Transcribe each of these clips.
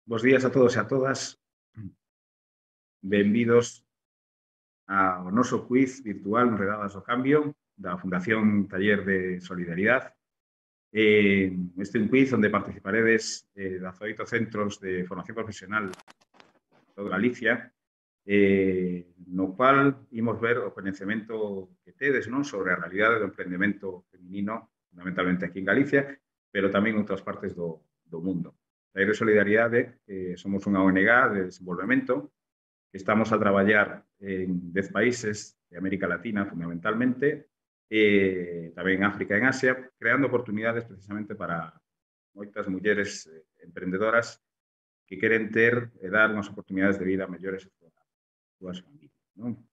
Bos días a todos e a todas. Benvidos ao noso quiz virtual Enredadas ao Cambio da Fundación Taller de Solidaridade. Este é un quiz onde participaredes 18 centros de formación profesional de toda Galicia, no cual imos ver o coñecemento que tedes sobre a realidade do emprendemento feminino, fundamentalmente aquí en Galicia, pero tamén en outras partes do mundo. Taller de Solidaridade somos unha ONG de desenvolvemento que estamos a traballar en 10 países de América Latina, fundamentalmente, tamén en África e en Asia, creando oportunidades precisamente para moitas mulleres emprendedoras que queren ter e dar unhas oportunidades de vida mellores a súas familias. Non?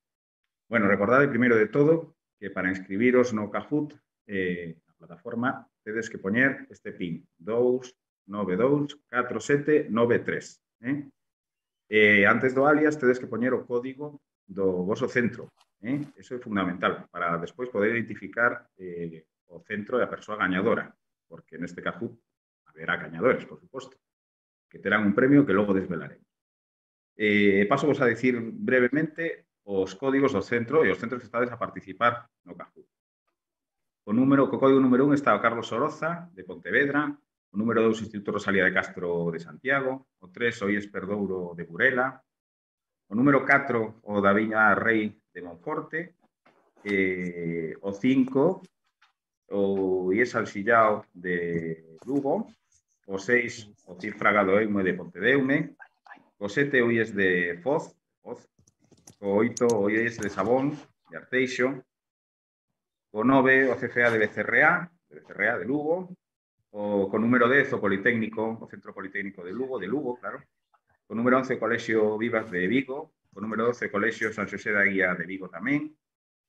Bueno, recordade, primeiro de todo, que para inscribiros no Kahoot, na plataforma, tedes que poñer este PIN, 2924793. Antes do alias, tedes que poñer o código do voso centro. Eso é fundamental, para despois poder identificar o centro e a persoa gañadora, porque neste Kahoot haberá gañadores, por suposto, que terán un premio que logo desvelaremos. Paso vos a dicir brevemente os códigos do centro e os centros que estades a participar no Kahoot. Co código número 1 está o Carlos Soroza, de Pontevedra, o número 2, Instituto Rosalía de Castro de Santiago, o 3, o IES Perdouro de Burela, o número 4, o da Viña Rei de Monforte, o 5, o IES Alxillao de Lugo, o 6, o CIF Fragado Eimo de Pontedeume, o 7, o IES de Foz, o 8, o IES de Sabón, de Arteixo, o 9, o CFA de Becerreá, de Lugo, o número 10, o Politécnico, o Centro Politécnico de Lugo, claro. O número 11, o Colexio Vivas de Vigo. O número 12, o Colexio San Xosé da Guía de Vigo tamén.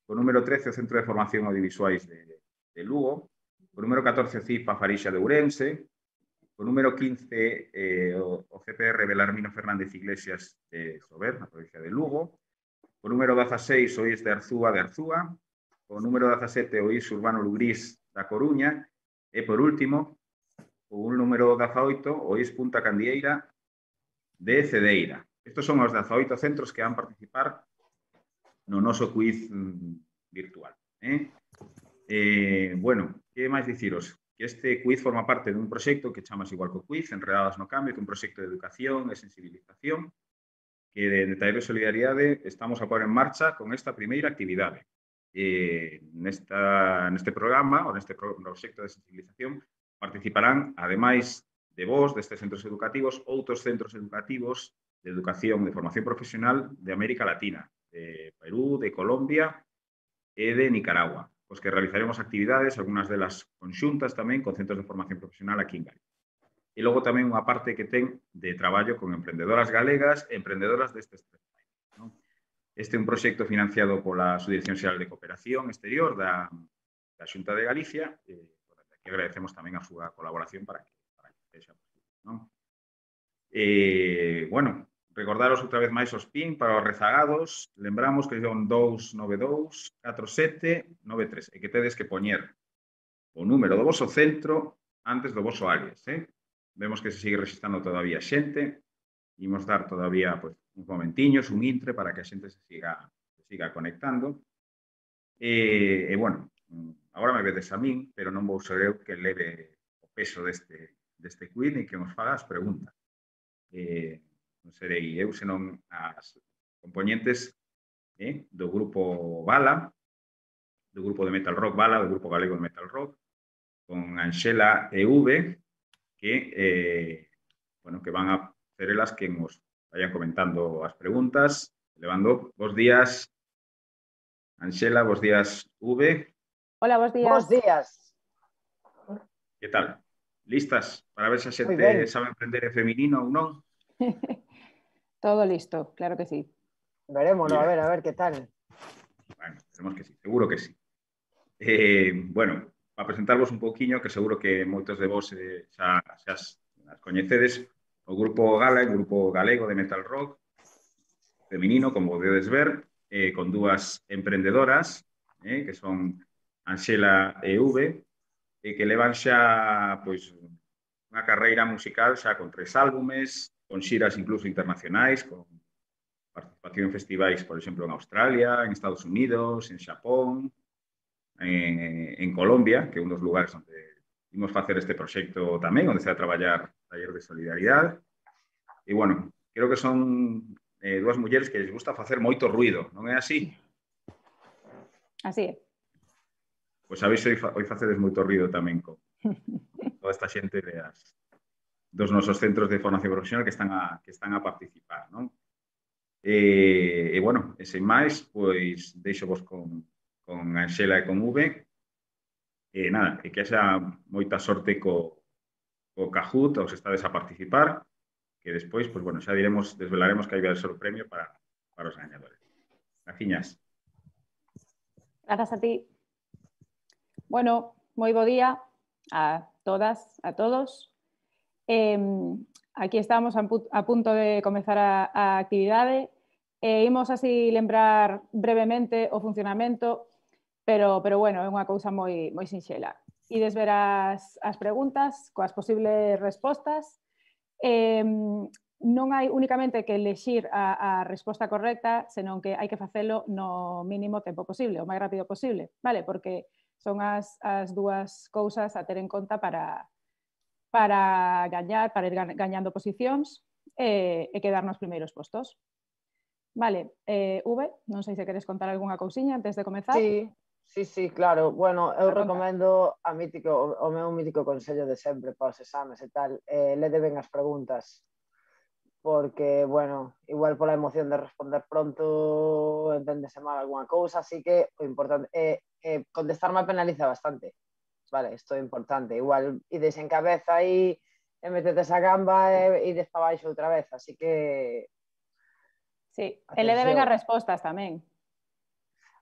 O número 13, o Centro de Formación Audiovisuais de Lugo. O número 14, o CIP Farixa de Ourense. O número 15, o CPR Belarmino Fernández Iglesias de Sober, na provincia de Lugo. O número 16, o IES de Arzúa. O número 17, o IES Urbano Lugrís da Coruña. E, por último, o número 18, o IES Punta Candieira de Cedeira. Estos son os 18 centros que van participar no noso quiz virtual. Bueno, que máis diciros? Que este quiz forma parte dun proxecto que chamas igual co quiz, Enredadas no Cambio, que é un proxecto de educación e sensibilización que de Taller de Solidaridade estamos a pôr en marcha con esta primeira actividade. Neste programa, ou neste proxecto de sensibilización, participarán, ademais de vos, destes centros educativos, outros centros educativos de educación, de formación profesional de América Latina, de Perú, de Colombia e de Nicaragua, os que realizaremos actividades, algunhas delas conxuntas tamén, con centros de formación profesional aquí en Galicia. E logo tamén unha parte que ten de traballo con emprendedoras galegas e emprendedoras destes tres países. Este é un proxecto financiado pola Subdirección Xeral de Cooperación Exterior da Xunta de Galicia, que agradecemos tamén a súa colaboración para que sexa posible. Bueno, recordaros outra vez máis os PIN para os rezagados. Lembramos que son 2924793 e que tedes que poñer o número do voso centro antes do voso alias. Vemos que se sigue registrando todavía xente. Imos dar todavía uns momentiños, un intre, para que a xente se siga conectando. Bueno, agora me vedes a min, pero non vou ser eu que leve o peso deste quiz e que nos faga as preguntas. Non serei eu, senón as componentes do grupo Bala, do grupo de Metal Rock Bala, do grupo galego de Metal Rock, con Anxela e V, que van a ser elas que nos vayan comentando as preguntas. Levando, bos días, Anxela, bos días, V. Hola, bos días. Bos días. Que tal? Listas para ver se a xente sabe emprender feminino ou non? Todo listo, claro que sí. Verémonos, a ver que tal. Bueno, esperemos que sí, seguro que sí. Bueno, para presentarvos un pouquiño, que seguro que moitos de vos xa as coñecedes, o grupo Gala, o grupo galego de Metal Rock, feminino, como podedes ver, con dúas emprendedoras, que son Anxela e V, que levan xa unha carreira musical xa con 3 álbumes, con xiras incluso internacionais, con participación en festivais, por exemplo, en Australia, en Estados Unidos, en Xapón, en Colombia, que é un dos lugares onde imos facer este proxecto tamén, onde se vai a traballar taller de solidaridade. E, bueno, creo que son dúas mulleres que les gusta facer moito ruido, non é así? Así é. Pois sabéis, hoy facedes moito ruido tamén con toda esta xente dos nosos centros de formación profesional que están a participar, non? E, bueno, e sen máis, pois deixo vos con Anxela e con V. E nada, que haxa moita sorte co Kahoot, os estades a participar, que despois, pois, bueno, xa desvelaremos que hai vai ser o premio para os gañadores. Graciñas. Grazas a ti. Bueno, moi bo día a todas, a todos. Aquí estamos a punto de comezar a actividade. Imos así lembrar brevemente o funcionamento, pero bueno, é unha cousa moi sinxela. Ides ver as preguntas coas posibles respostas. Non hai únicamente que elexir a resposta correcta, senón que hai que facelo no mínimo tempo posible, o máis rápido posible, vale? Porque son as dúas cousas a ter en conta para gañar, para ir gañando posicións e quedar nos primeiros postos. Vale, V, non sei se queres contar algunha cousiña antes de comezar. Sí, claro. Bueno, eu recomendo o meu mítico consello de sempre para os exames e tal. Lede ben as preguntas, porque, bueno, igual pola emoción de responder pronto enténdese mal algunha cousa, así que o importante é contestar mal penaliza bastante. Vale, isto é importante. Igual ides en cabeza aí e metedes a gamba e ides para baixo outra vez, así que... Sí, e le deben as respostas tamén.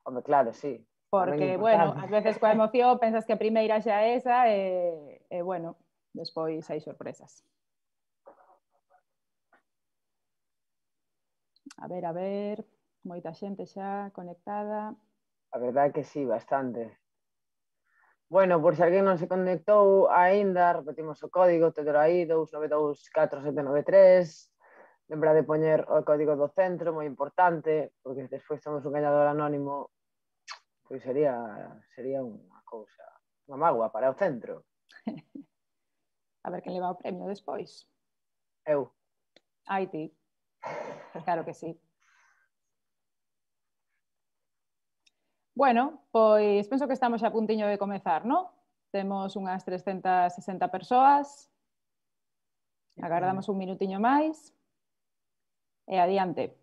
Home, claro, sí. Porque, bueno, ás veces coa emoción pensas que a primeira xa é esa e bueno, despois hai sorpresas. A ver, moita xente xa conectada. A verdade é que sí, bastante. Bueno, por se alguén non se conectou aínda, repetimos o código, tedelo aí, 2924793. Lembra de poñer o código do centro, moi importante, porque despois temos un gañador anónimo, pois sería unha cousa, unha mágoa para o centro. A ver quen leva o premio despois. Eu. Ai, ti. Claro que sí. Bueno, pois penso que estamos xa a puntiño de comezar, non? Temos unhas 360 persoas. Agardamos un minutiño máis. E adiante.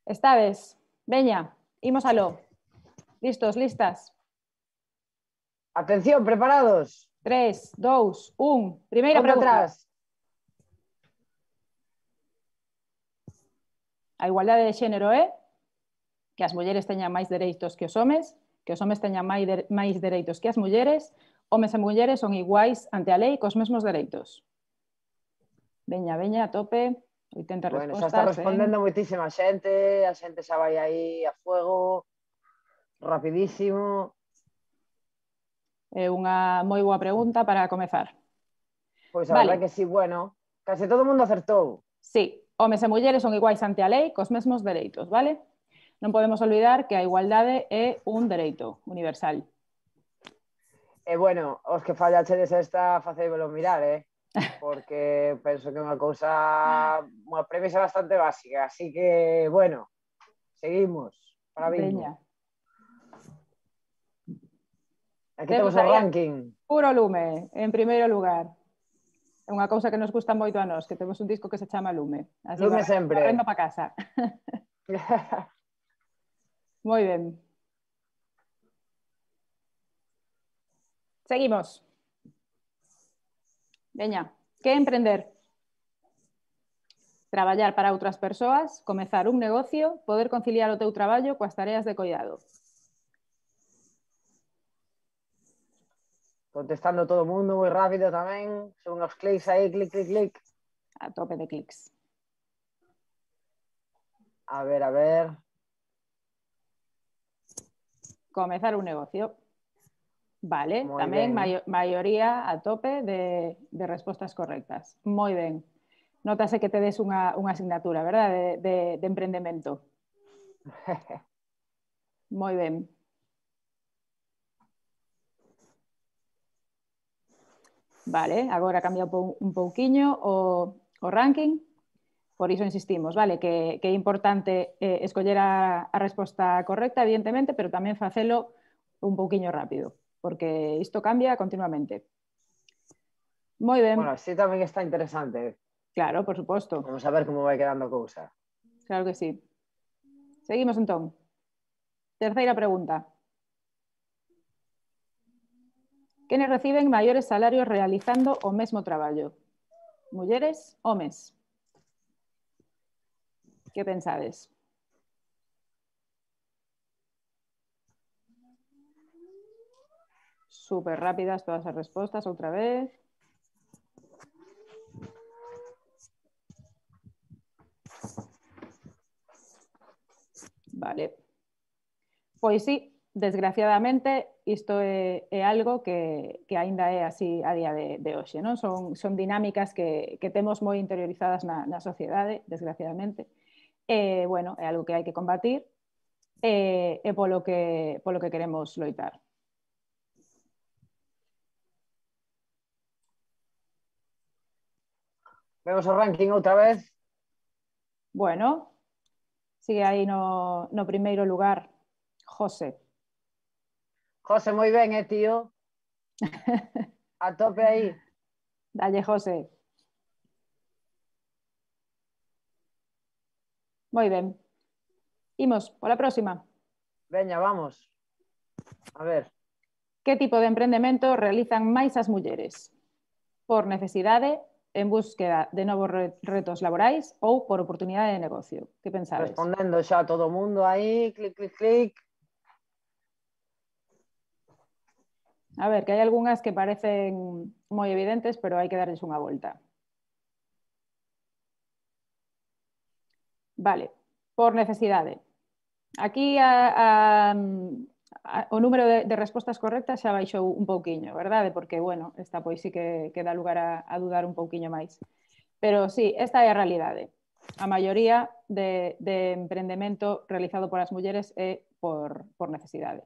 Estades? Veña, imos aló. Listos, listas? Atención, preparados? 3, 2, 1. Primeira pregunta. Atrás. A igualdade de xénero é que as mulleres teñan máis dereitos que os homes teñan máis dereitos que as mulleres, homes e mulleres son iguais ante a lei cos mesmos dereitos. Veña, a tope, 80 bueno, respostas. Xa está respondendo moitísima xente, a xente xa vai aí a fuego, rapidísimo. É unha moi boa pregunta para comezar. Pois a verdade que sí, bueno, case todo o mundo acertou. Sí, homes e mulleres son iguais ante a lei cos mesmos dereitos, vale? Non podemos olvidar que a igualdade é un dereito universal. E bueno, os que fallachedes esta, facéivelo mirar, porque penso que é unha cousa, unha premisa bastante básica, así que, bueno, seguimos. Para bingo. Aquí temos o ranking. Puro Lume, en primeiro lugar. É unha cousa que nos gusta moito a nós, que temos un disco que se chama Lume. Así Lume sempre. Correndo para casa. Moi ben. Seguimos. Veña, que emprender? Traballar para outras persoas, comezar un negocio, poder conciliar o teu traballo coas tareas de coidado. Contestando todo o mundo moi rápido tamén, son os clics aí, clic. A tope de clics. A ver. Comezar un negocio. Vale, Moi tamén ben. maioría a tope de respostas correctas. Moi ben. Notase que tedes unha asignatura, verdad, de emprendemento. Moi ben. Vale, agora cambia un pouquiño o ranking, por iso insistimos, vale, que é importante escoller a resposta correcta, evidentemente, pero tamén facelo un pouquiño rápido, porque isto cambia continuamente. Moi ben. Bueno, así tamén está interesante. Claro, por suposto. Vamos a ver como vai quedando a cousa. Claro que sí. Seguimos entón. Terceira pregunta. Quenes reciben maiores salarios realizando o mesmo traballo? Mulleres, homes? Que pensades? Súper rápidas todas as respostas, outra vez. Vale. Pois sí, desgraciadamente, isto é algo que aínda é así a día de hoxe, non? Son dinámicas que temos moi interiorizadas na sociedade, desgraciadamente. Bueno, é algo que hai que combatir e polo que queremos loitar. Vemos o ranking outra vez. Bueno, sigue aí no primeiro lugar José. José, moi ben, tío? A tope aí. Dalle, José. Moi ben. Imos, pola próxima. Veña, vamos. A ver. Que tipo de emprendemento realizan máis as mulleres? Por necesidade, en búsqueda de novos retos laborais ou por oportunidade de negocio? Que pensades? Respondendo xa todo o mundo aí, clic, clic, clic. A ver, que hai algunhas que parecen moi evidentes, pero hai que darles unha volta. Vale, por necesidade. Aquí o número de respostas correctas xa baixou un pouquiño, verdade? Porque, bueno, esta pois sí que dá lugar a dudar un pouquiño máis. Pero sí, esta é a realidade. A maioría de emprendemento realizado por as mulleres é por necesidade.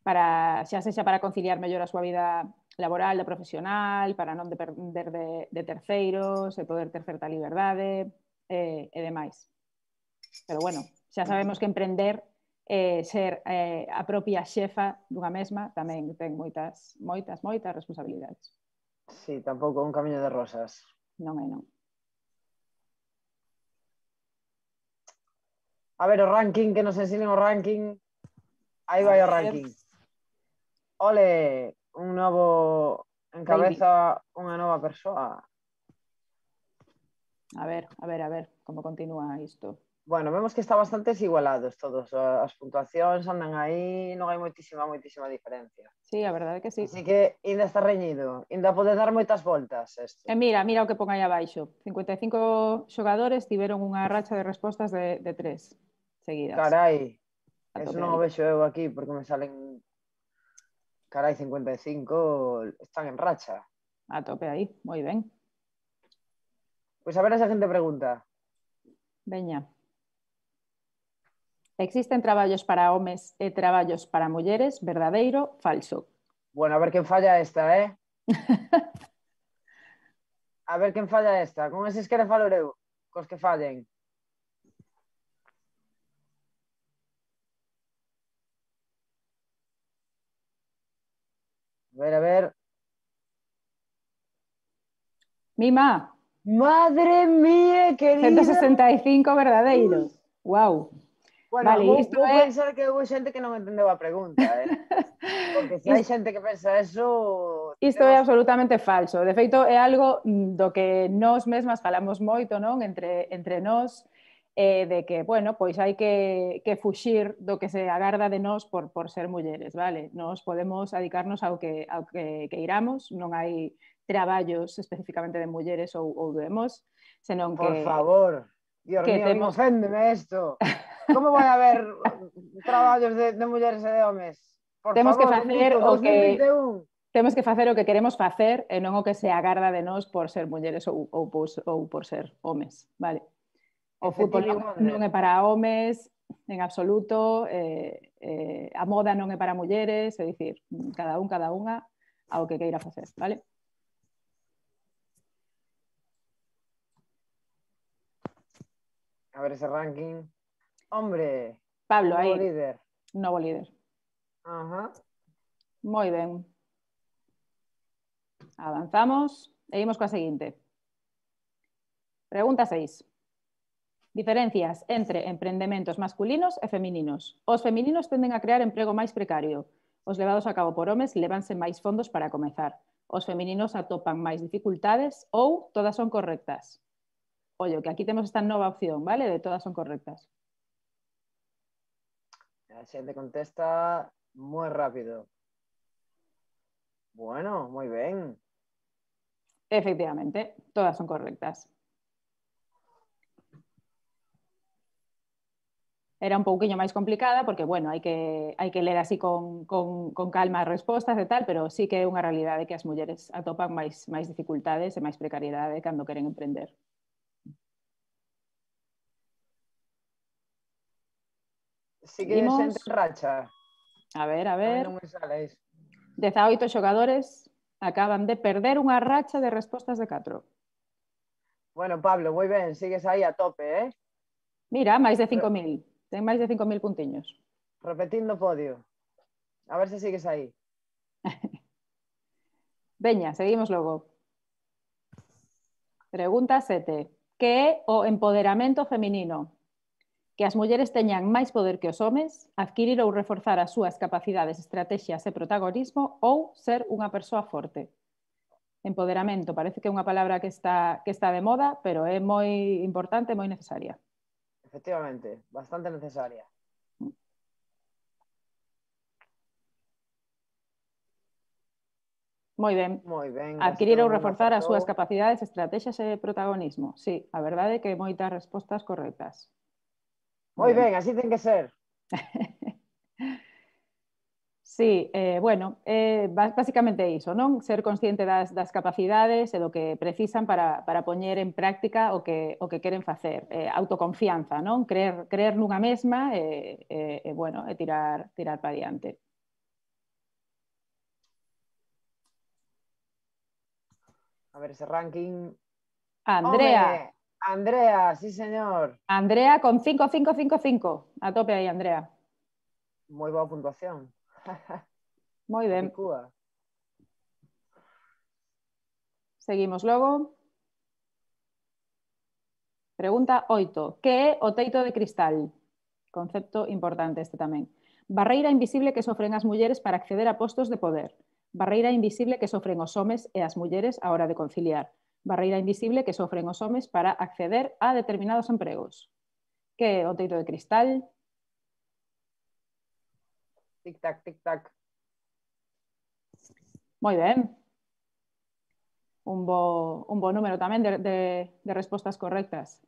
Xa sexa para conciliar mellor a súa vida laboral, da profesional, para non depender de terceiros, e poder ter certa liberdade e demais. Pero bueno, xa sabemos que emprender, ser a propia xefa dunha mesma, tamén ten moitas responsabilidades. Sí, tampouco un camiño de rosas. Non é, non. A ver, o ranking, que nos ensinen o ranking. Aí vai o ranking. Ole, un novo encabeza unha nova persoa. A ver, como continúa isto. Bueno, vemos que está bastante igualados todos. As puntuacións andan aí, non hai moitísima diferencia. Sí, a verdade que sí. Así que ainda está reñido, ainda pode dar moitas voltas isto. E mira o que pon aí abaixo. 55 xogadores tiveron unha racha de respostas de 3 seguidas. Carai, eso non o vexo eu aquí, porque me salen... Carai, 55 están en racha. A tope aí, moi ben. Pois a ver a seguinte pregunta. Veña. Existen traballos para homes e traballos para mulleres, verdadeiro, falso? Bueno, a ver quen falla esta, A ver quen falla esta. Con eses quere falo eu, cos que fallen. A ver. Mima. Madre mía, querida. 165 verdadeiros. Wow. Bueno, vale, vou pensar que houve xente que non entendeu a pregunta, Porque se hai xente que pensa eso... Isto é absolutamente falso. De feito, é algo do que nós mesmas falamos moito, non? Entre nós, de que, bueno, pois hai que fuxir do que se agarda de nós por ser mulleres, vale? Nós podemos dedicarnos ao que queiramos, non hai traballos especificamente de mulleres ou de hemos, senón que... Por favor, Dios mío, oféndeme isto. Como vai haber traballos de mulleres e de homes? Por Temos que favor, facer repito, o que 2021. temos que facer o que queremos facer e non o que se agarda de nós por ser mulleres ou por ser homes, vale? O fútbol non é para homes en absoluto, a moda non é para mulleres, é dicir, cada unha ao que queira facer, vale? A ver ese ranking. Hombre, Pablo, novo aí, líder. novo líder. Ajá. Moi ben. Avanzamos e imos coa seguinte. Pregunta 6. Diferencias entre emprendementos masculinos e femininos. Os femininos tenden a crear emprego máis precario. Os levados a cabo por homes levanse máis fondos para comezar. Os femininos atopan máis dificultades ou todas son correctas. Ollo, que aquí temos esta nova opción, vale? De todas son correctas. A xente contesta moi rápido. Bueno, moi ben. Efectivamente, todas son correctas. Era un pouquiño máis complicada porque, bueno, hai que ler así con calma as respostas e tal, pero sí que é unha realidade que as mulleres atopan máis dificultades e máis precariedade cando queren emprender. Sí que xente racha. A ver. Non me sale iso. 18 xogadores acaban de perder unha racha de respostas de 4. Bueno, Pablo, moi ben, sigues aí a tope, eh? Mira, máis de 5.000. Ten máis de 5.000 puntiños. Repetindo podio. A ver se sigues aí. Veña, seguimos logo. Pregunta 7. Que é o empoderamento feminino? Que as mulleres teñan máis poder que os homes, adquirir ou reforzar as súas capacidades, estrategias e protagonismo ou ser unha persoa forte. Empoderamento parece que é unha palabra que está de moda, pero é moi importante e moi necesaria. Efectivamente, bastante necesaria. Moi ben. Moi ben. Adquirir ou reforzar as súas capacidades, estrategias e protagonismo. Sí, a verdade é que moitas respostas correctas. Moi ben, así ten que ser. Sí, bueno, basicamente iso, non? Ser consciente das capacidades e do que precisan para poñer en práctica o que queren facer. Autoconfianza, non? Creer nunha mesma e bueno, e tirar para diante. A ver ese ranking. Andrea. Home, Andrea, sí señor. Andrea con 5. A tope aí, Andrea. Moi boa puntuación. Moi ben. Seguimos logo. Pregunta 8. Que é o teito de cristal? Concepto importante este tamén. Barreira invisible que sofren as mulleres para acceder a postos de poder. Barreira invisible que sofren os homes e as mulleres á hora de conciliar. Barreira invisible que sofren os homes para acceder a determinados empregos. Que é o teito de cristal? Tic-tac, tic-tac. Moi ben. Un bo número tamén de respostas correctas.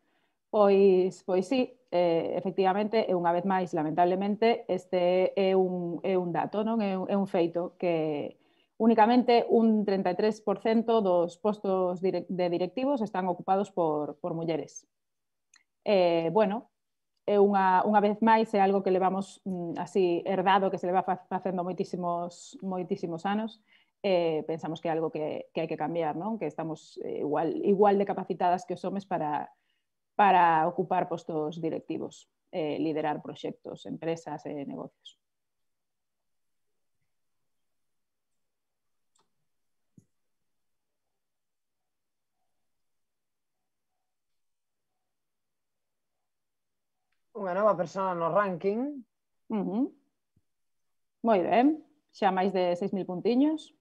Pois sí, efectivamente, e unha vez máis, lamentablemente, este é un dato, non? É un feito que únicamente un 33% dos postos de directivos están ocupados por mulleres. Bueno, é unha vez máis é algo que levamos así herdado, que se leva facendo moitísimos anos. Pensamos que é algo que hai que cambiar, non? Que estamos igual de capacitadas que os homes para ocupar postos directivos, liderar proxectos, empresas e negocios. Unha nova persona no ranking. Moi ben, xa máis de 6.000 puntiños.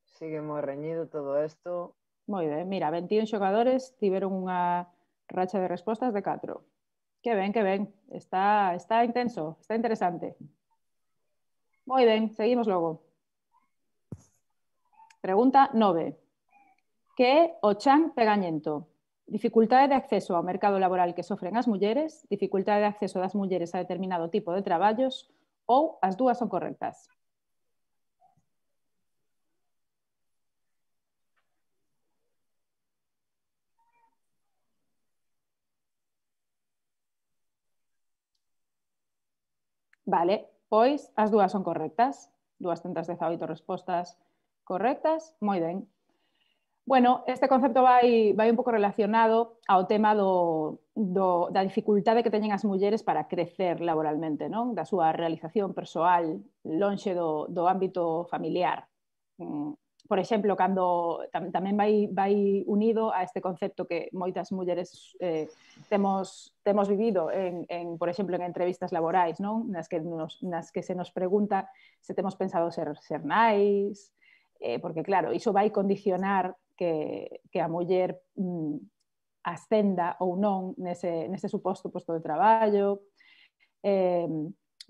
Sigue moi reñido todo isto. Moi ben, mira, 21 xogadores tiveron unha racha de respostas de 4. Que ben. Está intenso, está interesante. Moi ben, seguimos logo. Pregunta 9. Que é o chan pegañento? Dificultade de acceso ao mercado laboral que sofren as mulleres, dificultade de acceso das mulleres a determinado tipo de traballos ou as dúas son correctas. Vale, pois as dúas son correctas. 218 respostas correctas. Moi ben. Bueno, este concepto vai un pouco relacionado ao tema da dificultade que teñen as mulleres para crecer laboralmente, non? Da súa realización persoal lonxe do ámbito familiar. Por exemplo, cando tamén vai unido a este concepto que moitas mulleres temos vivido por exemplo, en entrevistas laborais, non? Nas que se nos pregunta se temos pensado ser nais, porque claro, iso vai condicionar que a muller ascenda ou non nese suposto posto de traballo.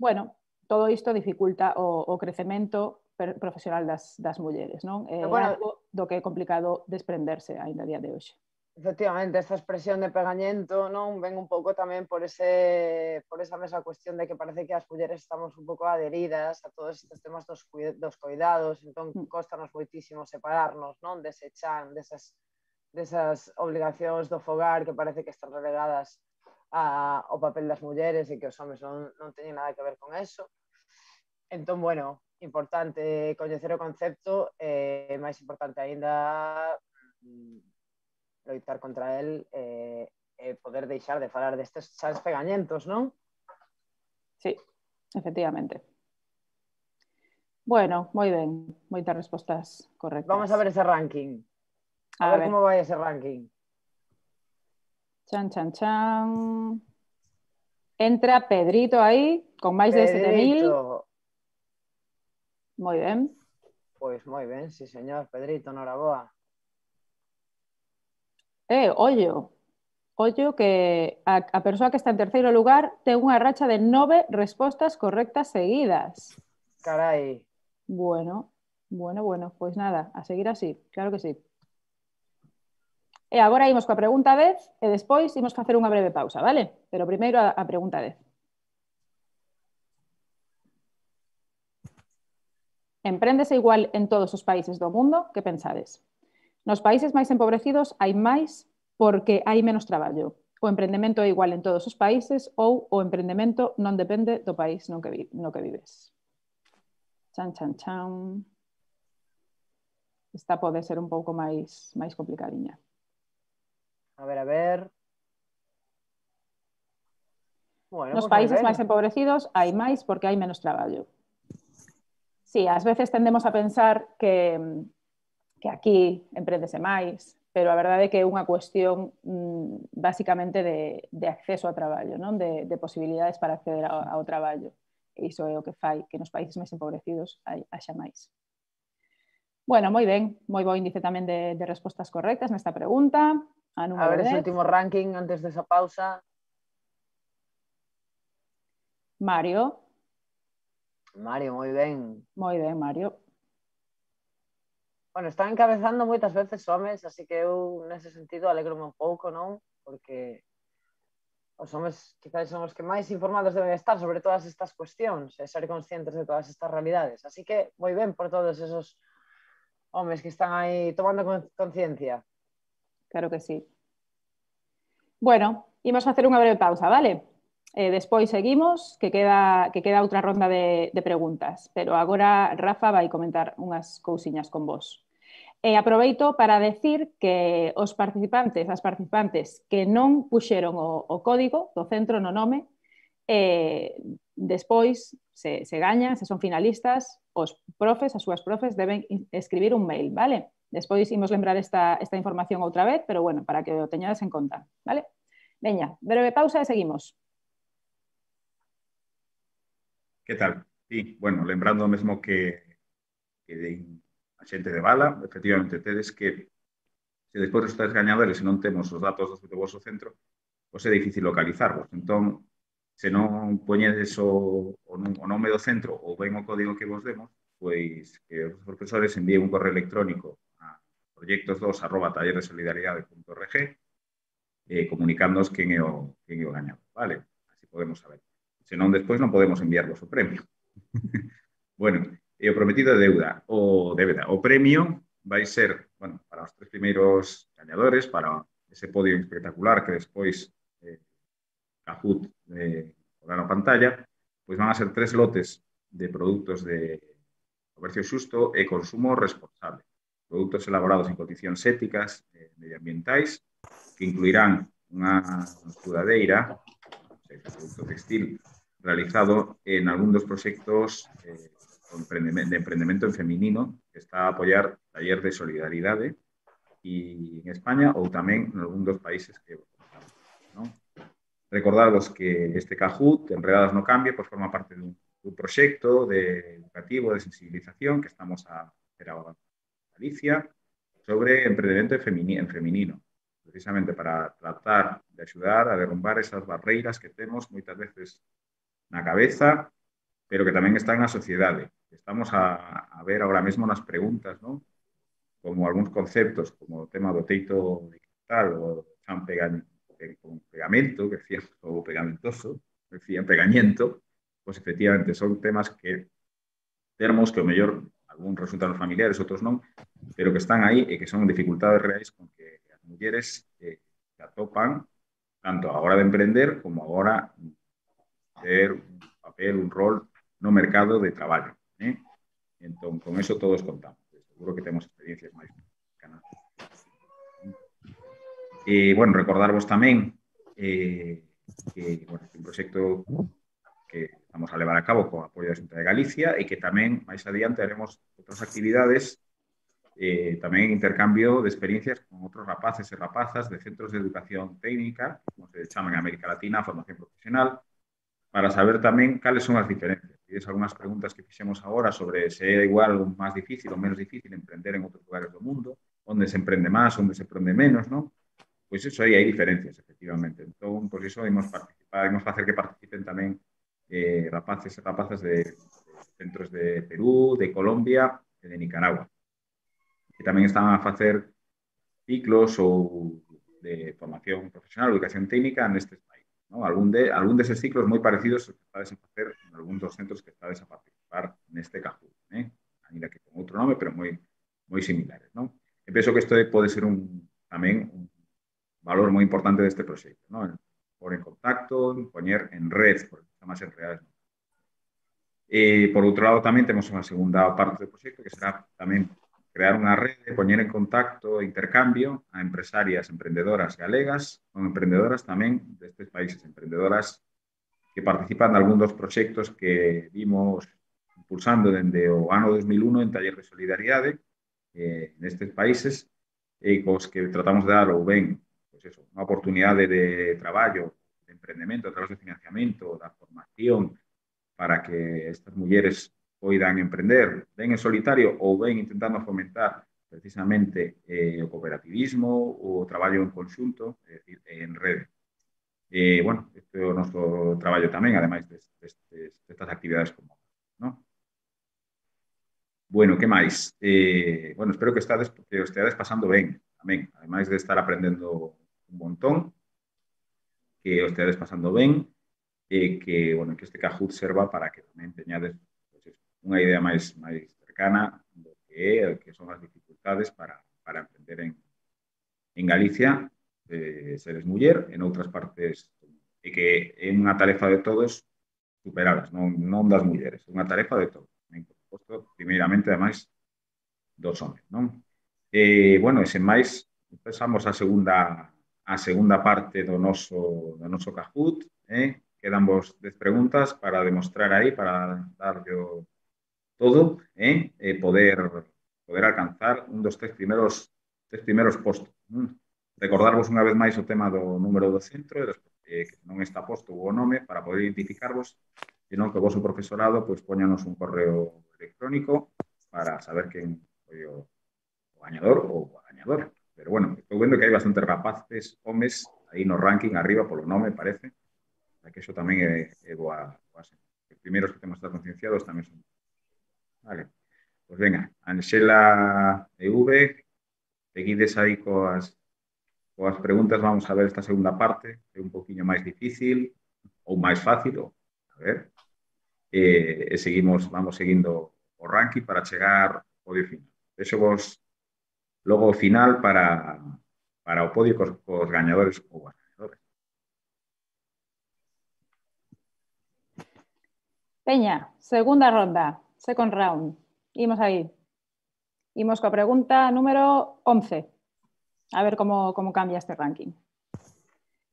Bueno, todo isto dificulta o crecemento profesional das mulleres, non? É algo do que é complicado desprenderse ainda a día de hoxe. Efectivamente, esta expresión de pegañento non ven un pouco tamén por esa mesma cuestión de que parece que as mulleres estamos un pouco adheridas a todos estes temas dos cuidados, entón costanos moitísimo separarnos, non? Dese chan, desas obligacións do fogar que parece que están relegadas ao papel das mulleres e que os homes non teñen nada que ver con eso. Entón, bueno, importante coñecer o concepto, máis importante aínda loitar contra el e poder deixar de falar destes chans pegañentos, non? Sí, efectivamente. Bueno, moi ben, moitas respostas correctas. Vamos a ver ese ranking. A ver como vai ese ranking. Chan, chan, chan. Entra Pedrito aí, con máis de 7.000. Moi ben. Pois moi ben, sí señor, Pedrito, noraboa. Ollo que a persoa que está en terceiro lugar ten unha racha de 9 respostas correctas seguidas. Carai. Bueno, pois nada, a seguir así, claro que sí. E agora imos coa pregunta 10 e despois imos facer unha breve pausa, vale? Pero primeiro a pregunta 10. Empréndese igual en todos os países do mundo? Que pensades? Nos países máis empobrecidos hai máis porque hai menos traballo. O emprendemento é igual en todos os países ou o emprendemento non depende do país no que vives. Chan, chan, chan. Esta pode ser un pouco máis complicadiña. A ver. Bueno, nos países máis empobrecidos hai máis porque hai menos traballo. Sí, ás veces tendemos a pensar que aquí empréndese máis, pero a verdade é que é unha cuestión basicamente de acceso ao traballo, non? De posibilidades para acceder ao traballo. E iso é o que fai que nos países máis empobrecidos haxa máis. Bueno, moi ben, moi bo índice tamén de respostas correctas nesta pregunta. A ver ese último ranking antes desa pausa. Mario. Mario, moi ben. Moi ben, Mario. Bueno, están encabezando moitas veces homes, así que eu nese sentido alegrome un pouco, non? Porque os homes quizás son os que máis informados deben estar sobre todas estas cuestións e ser conscientes de todas estas realidades. Así que moi ben por todos esos homes que están aí tomando conciencia. Claro que sí. Bueno, imos facer unha breve pausa, vale? Despois seguimos, que queda outra ronda de preguntas, pero agora Rafa vai comentar unhas cousiñas con vos. Aproveito para decir que as participantes que non puxeron o código do centro no nome, despois se gañan, se son finalistas, os profes, as súas profes, deben escribir un mail, vale? Despois imos lembrar esta información outra vez, pero bueno, para que o teñades en conta, vale? Veña, breve pausa e seguimos. Que tal? Sí, bueno, lembrando mesmo que a xente de bala, efectivamente, tedes que, se despois os resultados gañadores e non temos os datos do vosso centro, pois é difícil localizarvos. Entón, se non poñedes o nome do centro ou ben o código que vos demos, pois que os profesores envíen un correo electrónico a proyectos2@talleresolidaridade.org comunicándoos quen é o gañador, vale? Así podemos saber. Senón, despois non podemos enviarvos o premio. Bueno, o prometido de deuda o débeda. O premio vai ser, bueno, para os 3 primeiros gañadores, para ese podio espectacular que despois Kahoot porá na pantalla, pois van a ser 3 lotes de produtos de comercio xusto e consumo responsable. Produtos elaborados en condicións éticas e medioambientais que incluirán unha sudadeira, producto textil, realizado en algún dos proxectos de emprendemento en feminino que está a apoiar Taller de Solidaridade e en España ou tamén en algún dos países que comentamos, non? Recordaros que este Kahoot, Enredadas no Cambio, pues forma parte dun proxecto educativo de sensibilización que estamos a hacer agora en Galicia sobre emprendemento en feminino, precisamente para tratar de axudar a derrumbar esas barreiras que temos moitas veces na cabeza, pero que tamén están na sociedade. Estamos a ver agora mesmo nas preguntas, ¿no? Como algúns conceptos, como o tema do teito digital, o chan con pegamento, que decían, o pegamentoso, decían pegañento, pues efectivamente son temas que termos que o mellor algún resultan familiares, outros non, pero que están aí e que son dificultades reais con que as mulleres se atopan tanto a hora de emprender como a hora ter un papel, un rol no mercado de traballo. Entón, con eso todos contamos. Seguro que temos experiencias máis cercanas. Bueno, recordarvos tamén que bueno, un proxecto que vamos a levar a cabo co apoio da Xunta de Galicia e que tamén máis adiante haremos outras actividades tamén intercambio de experiencias con outros rapaces e rapazas de centros de educación técnica, como se chaman en América Latina, formación profesional, para saber tamén cales son as diferencias. Tides algunhas preguntas que fixemos agora sobre se é igual ou máis difícil ou menos difícil emprender en outros lugares do mundo, onde se emprende máis, onde se emprende menos, non? Pois iso aí hai diferencias, efectivamente. Entón, pois iso imos participar, imos facer que participen tamén rapaces e rapazas de centros de Perú, de Colombia e de Nicaragua. Que tamén están a facer ciclos ou de formación profesional, educación técnica nestes países. ¿No? Algún deses ciclos moi parecidos que estades a facer en algún dos centros que estades a participar neste Kahoot. Ainda que con outro nome, pero moi similares. ¿No? E penso que isto pode ser tamén un valor moi importante deste proxecto. ¿No? Por en contacto, poñer en red, porque está máis en redes. Por outro lado, tamén temos unha segunda parte do proxecto que será tamén crear unha rede, poñer en contacto e intercambio a empresarias emprendedoras galegas con emprendedoras tamén destes países, emprendedoras que participan de algún dos proxectos que vimos impulsando dende o ano 2001 en Taller de Solidaridade nestes países e cos que tratamos de dar ou ben pues eso, unha oportunidade de traballo, de emprendemento a través de financiamento, da formación para que estas mulleres poidan emprender ben en solitario ou ben intentando fomentar precisamente o cooperativismo, o traballo en conxunto, é dicir, en rede. Bueno, este é o noso traballo tamén, ademais destas actividades como, ¿no? Bueno, que máis? Bueno, espero que o esteades pasando ben, tamén, ademais de estar aprendendo un montón, que o esteades pasando ben, e que, bueno, que este Kahoot serva para que tamén teñades unha idea máis cercana do que son as dificultades para emprender en Galicia, seres muller, en outras partes, e que é unha tarefa de todos superalas, non das mulleres, é unha tarefa de todos. Por suposto, primeiramente, ademais, dos homes, non? Bueno, e sen máis, empezamos a segunda parte do noso Kahoot, quedan vos 10 preguntas para demostrar aí, para darlle todo, poder alcanzar un dos 3 primeiros postos. Recordarvos unha vez máis o tema do número do centro, que non está posto o nome para poder identificarvos, senón que o vosso profesorado pois poñanos un correo electrónico para saber quen foi o gañador ou a gañadora. Pero bueno, estou vendo que hai bastantes rapaces, homes, aí no ranking arriba polo nome, parece, que iso tamén é boa. Os primeiros que temos que estar concienciados tamén son. Vale, pois venga, Anxela EV, seguides aí coas preguntas, vamos a ver esta segunda parte, é un poquinho máis difícil ou máis fácil, a ver. e vamos seguindo o ranking para chegar ao podio final. Vexo vos logo o final para o podio cos gañadores ou as gañadoras. Peña, segunda ronda, second round. Imos aí. Imos coa pregunta número 11. A ver como cambia este ranking.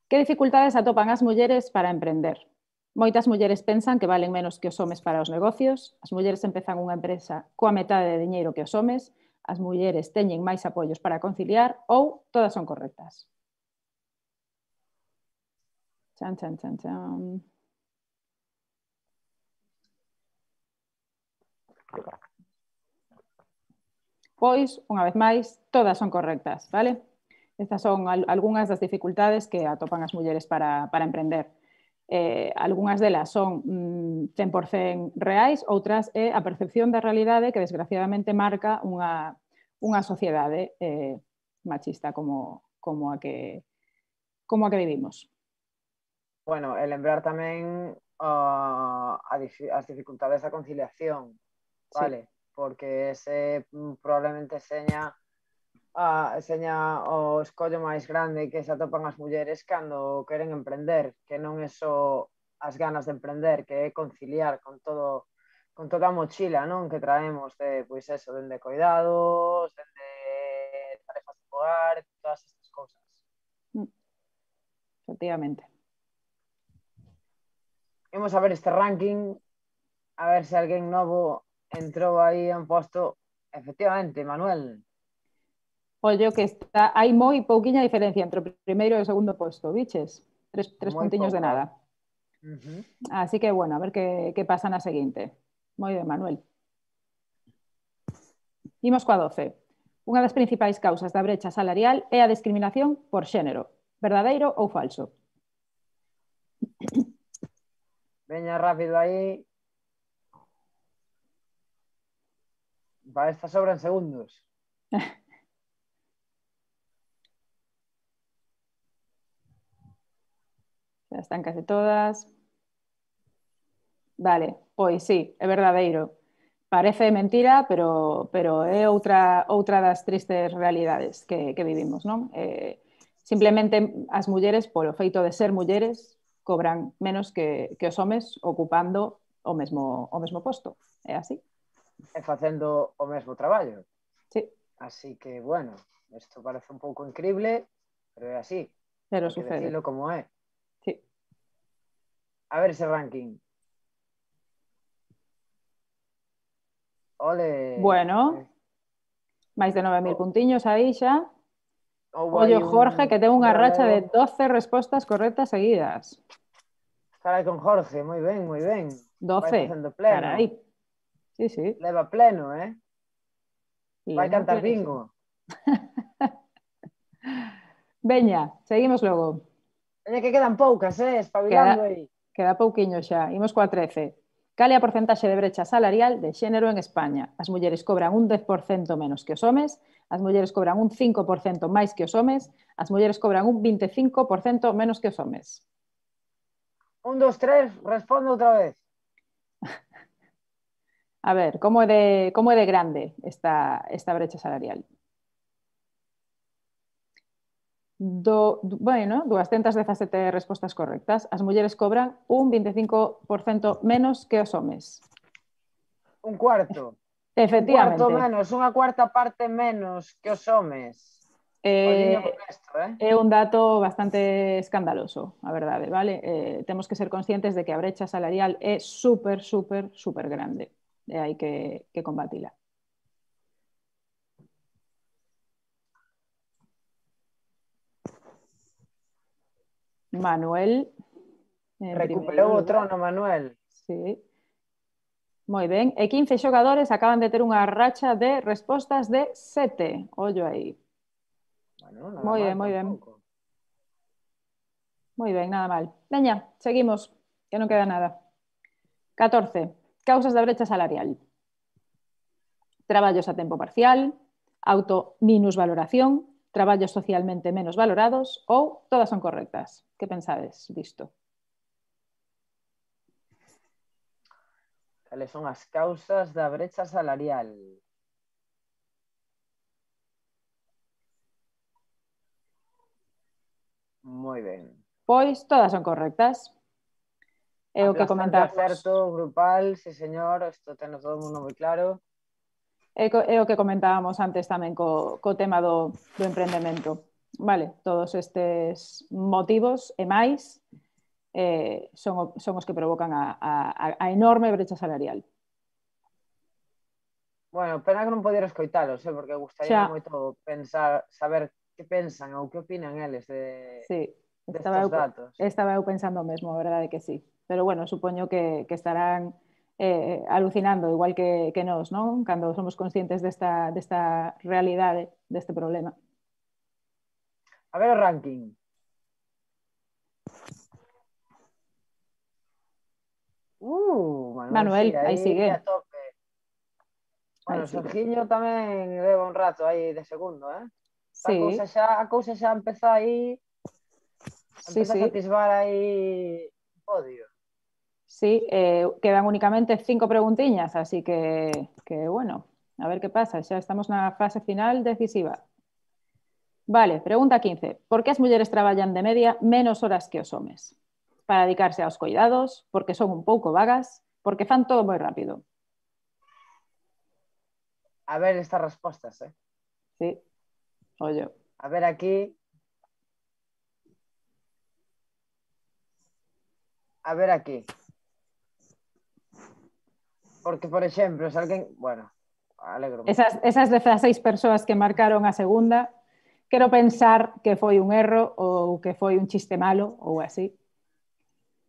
Que dificultades atopan as mulleres para emprender? Moitas mulleres pensan que valen menos que os homes para os negocios, as mulleres empezan unha empresa coa metade de diñeiro que os homes, as mulleres teñen máis apoios para conciliar ou todas son correctas. Chan, chan, chan, chan. Pois, unha vez máis, todas son correctas, vale? Estas son algunhas das dificultades que atopan as mulleres para emprender. Algunhas delas son 100% reais, outras é a percepción da realidade que desgraciadamente marca unha sociedade machista como a que vivimos. Bueno, e lembrar tamén as dificultades da conciliación, vale? Sí. Porque ese probablemente seña o escollo máis grande que se atopan as mulleres cando queren emprender, que non é só as ganas de emprender, que é conciliar con toda a mochila, non, que traemos de, pois eso, dende cuidados, dende tarefas de hogar, todas estas cousas. Efectivamente. Imos a ver este ranking, a ver se alguén novo entrou aí en posto. Efectivamente, Manuel. Ollo que hai moi pouquiña diferencia entre o primeiro e o segundo posto, biches? Tres puntiños de nada. Así que, bueno, a ver que pasa na seguinte. Moi ben, Manuel. Imos coa 12. Unha das principais causas da brecha salarial é a discriminación por xénero. Verdadeiro ou falso? Veña rápido aí. Para esta sobran segundos. Já están case todas. Vale, pois sí, é verdadeiro. Parece mentira, pero é outra das tristes realidades que vivimos, non? Simplemente as mulleres, polo feito de ser mulleres, cobran menos que os homes ocupando o mesmo posto. É así. E facendo o mesmo traballo. Sí. Así que, bueno, isto parece un pouco increíble, pero é así. Pero sucede. Hay que decirlo como é. Sí. A ver ese ranking. Ole. Bueno, máis de 9.000 puntiños aí xa. Ollo, Jorge, que ten unha racha de 12 respostas correctas seguidas. Carai con Jorge, moi ben, moi ben. 12, carai. Sí, sí. Leva pleno, vai cantar bingo. Veña, seguimos logo. Veña que quedan poucas, espabilando aí. Queda pouquiño xa. Imos coa 13. Cal é a porcentaxe de brecha salarial de xénero en España? As mulleres cobran un 10% menos que os homes, as mulleres cobran un 5% máis que os homes, as mulleres cobran un 25% menos que os homes. 1, 2, 3, respondo outra vez. A ver, como é de grande esta brecha salarial? Bueno, 217 respostas correctas. As mulleres cobran un 25% menos que os homes. Un cuarto. Efectivamente. Un cuarto menos, unha cuarta parte menos que os homes. É un dato bastante escandaloso, a verdade, vale? Temos que ser conscientes de que a brecha salarial é super grande. E hai que combatila. Manuel. Recuperou o trono, Manuel. Sí. Moi ben. E 15 xogadores acaban de ter unha racha de respostas de 7. Ollo aí. Bueno, moi ben. Moi ben, nada mal. Veña, seguimos, que non queda nada. 14. Causas da brecha salarial. Traballos a tempo parcial, auto-minusvaloración, traballos socialmente menos valorados ou todas son correctas. Que pensades disto? Cales son as causas da brecha salarial? Moi ben. Pois todas son correctas. É o que Aplastante comentamos. acerto grupal, sí señor, isto ten todo o mundo moi claro. É o que comentábamos antes tamén co tema do emprendemento. Vale, todos estes motivos e máis son os que provocan a enorme brecha salarial. Bueno, pena que non poder escoitalos, porque gustaría moito pensar, saber que pensan ou que opinan eles destos datos. Estaba eu pensando mesmo, a verdade que sí. Pero bueno, supoño que estarán alucinando, igual que nós, non? Cando somos conscientes desta realidade, deste problema. A ver o ranking. Manuel, sí, aí sigue. A tope. Bueno, Sergiño tamén leva un rato aí de segundo, Sí. A cousa xa empeza aí, empeza a atisbar aí o podio. Sí, quedan únicamente 5 preguntiñas, así que bueno, a ver que pasa, xa estamos na fase final decisiva. Vale, pregunta 15. Por que as mulleres traballan de media menos horas que os homes? Para dedicarse aos coidados, porque son un pouco vagas, porque fan todo moi rápido. A ver estas respostas, Sí, ollo. A ver aquí. A ver aquí. Porque, por exemplo, se alguén... Bueno, alegro. Esas 16 persoas que marcaron a segunda, quero pensar que foi un erro ou que foi un chiste malo ou así.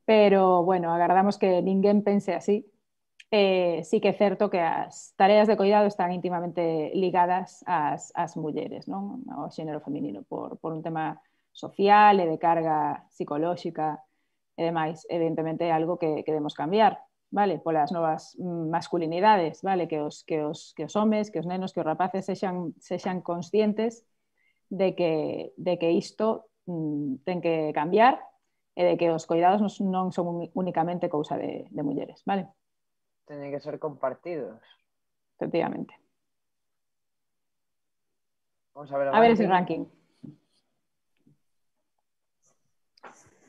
Pero, bueno, agardamos que ninguén pense así. Sí que é certo que as tareas de cuidado están íntimamente ligadas ás mulleres, non? Ao xénero feminino, por un tema social e de carga psicolóxica e demais. Evidentemente é algo que debemos cambiar, vale? Polas novas masculinidades, vale? Que os homes, que os nenos, que os rapaces sexan conscientes de que isto ten que cambiar e de que os cuidados non son únicamente cousa de mulleres, vale? Teñen que ser compartidos. Efectivamente. Vamos a ver ese ranking.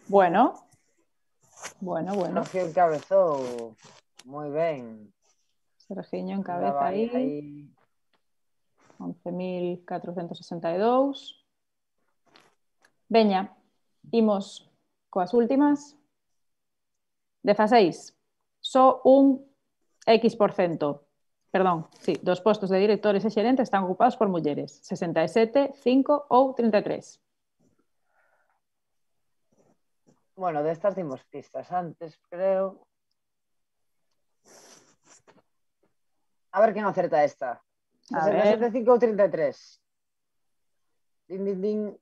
Bueno. Sergio encabezou. Moi ben. Sergiño encabeza aí. 11.462. Veña, imos coas últimas. 16. Só un X%. Perdón, sí, dos postos de directores e xerentes están ocupados por mulleres. 67, 5 ou 33. Bueno, destas dimos pistas antes, creo. A ver quen acerta esta. 67, 5 ou 33. Din, din, din.